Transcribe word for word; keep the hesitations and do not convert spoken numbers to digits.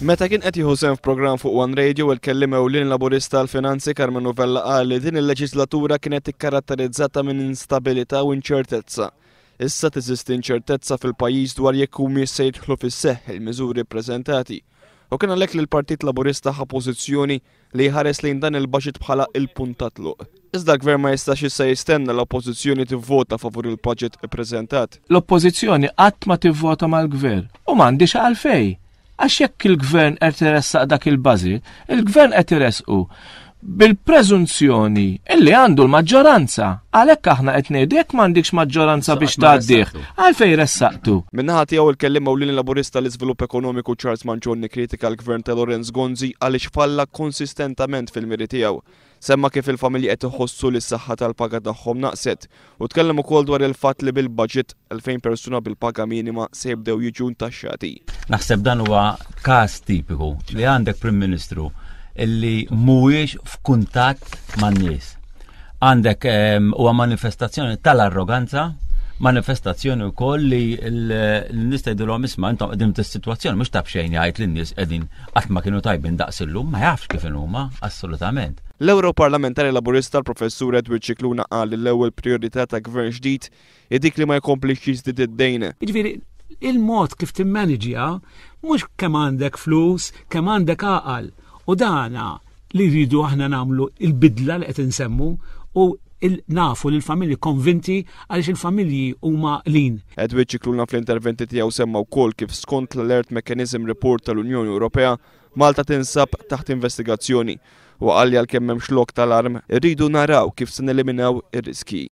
Meta kien qed jieħu sehem f'programm fuq One Radio, il-kelliem ewlieni Laburista għall-Finanzi Karmenu Vella qal li din il-leġislatura kienet ikkaratterizzata minn instabilità u inċertezza. Issa teżisti inċertezza fil-pajjiż dwar jekk humiex se jidħlu fis-seħħ il-miżuri ppreżentati. U kien għalhekk li l-Partit Laburista ħa pożizzjoni li jħares lejn dan il-budget bħala il-punt ta' tluq. Iżda l-gvern ma jistax issa jistenna l-oppożizzjoni tivvota favur il-budget ippreżentat. L-oppożizzjoni qatt ma tivvota mal-gvern u m'għandix għalfejn. Għax jekk il-gvern qed iressaq dak il-budget, il-gvern qed iressqu bil-preżunzjoni illi għandu l-maġġoranza. Għalhekk aħna qed ngħidu, jekk m'għandikx maġġoranza biex tgħaddih, għalfejn ressaqtu? Min-naħa tiegħu, il-kelliem ewlieni Laburista l-Iżvilupp Ekonomiku Charles Mangion kritika l-gvern ta' Lawrence Gonzi għaliex falla konsistentament fil-miri tiegħu. Semma kif il-familji qed iħossu li s-saħħa tal-paga tagħhom naqset u tkellem ukoll dwar il-fatt li bil-budget elfejn persuna bil-paga minima se jibdew jiġu ntaxxati. Naħseb dan huwa każ tipiku li għandek Prim Ministru illi mhuwiex f'kuntatt man-nies. Għandek huwa manifestazzjoni tal-arroganza, manifestazzjoni wkoll li l-nies tgħidilhom, "Isma', intom qegħdin fis-sitwazzjoni." Mhux ta' b'xejn jgħid li n-nies qegħdin qatt ma kienu tajbin daqs illum, ma jafx kif huma assolutament. L-Europarlamentari Laburista l-Professur Edward Scicluna qal li l-ewwel priorità ta' gvern ġdid hi dik li ma jkomplix jiżdied id-dejn. Jiġifieri il-mod kif timmaniġja mhux kemm għandek flus, kemm għandek għaqal. U dana li rridu aħna nagħmlu, il-bidla li qed insemmu, u nafu li l-familji konvinti għaliex il-familji huma lin. Edward Scicluna fl-interventi tiegħu semma wkoll kif skont l-Alert Mechanism Report tal-Unjoni Ewropea, Malta tinsab taħt investigazzjoni u qal li għalkemm m'hemmx lok tal-arm, irridu naraw kif se neliminaw ir-riski.